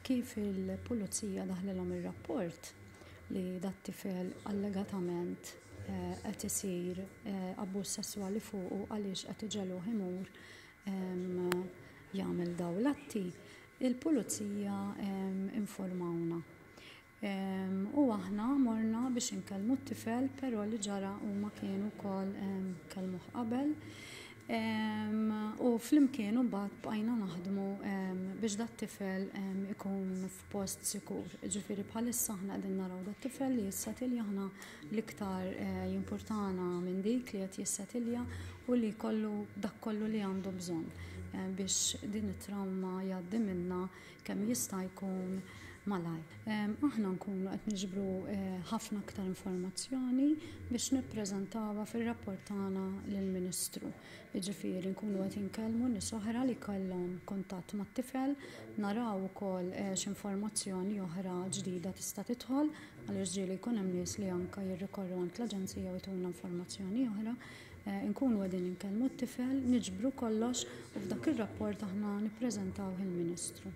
Kif il-pulizija daħlilhom ir-rapport li dat-tifel allegatament qed isir abbuż sesswali fuqu għaliex qed iġegħluh imur jagħmel dawn l-atti, il-pulizija informawna. U aħna morna biex inkellmu t-tifel, però li ġara huma kienu wkoll kellmuh qabel. U flimkien imbagħad bqajna naħdmu biex dat-tifel ikun f'post sikur. Ġifieri bħalissa aħna qegħdin naraw dat-tifel li jissetilja aħna l-iktar jimpurtana minn dik li qed jissetilja u li jkollu dak kollu li għandu bżonn biex din it-trawma jgħaddi minnha kemm jista' jkun malajr. Aħna nkunu qed niġbru ħafna aktar informazzjoni biex nippreżentawha fir-rapport tagħna lill-Ministru. Jiġifieri nkunu qed inkellmu nies oħra li kellhom kuntatt mat-tifel, naraw ukoll x'informazzjoni oħra ġdida tista' tidħol għaliex ġieli jkun hemm nies li anke jirrikorru għand l-aġenzija u jtuna informazzjoni oħra. Inkunu qegħdin inkellmu t-tifel, niġbru kollox u f'dak ir-rapport aħna nippreżentawh il-Ministru.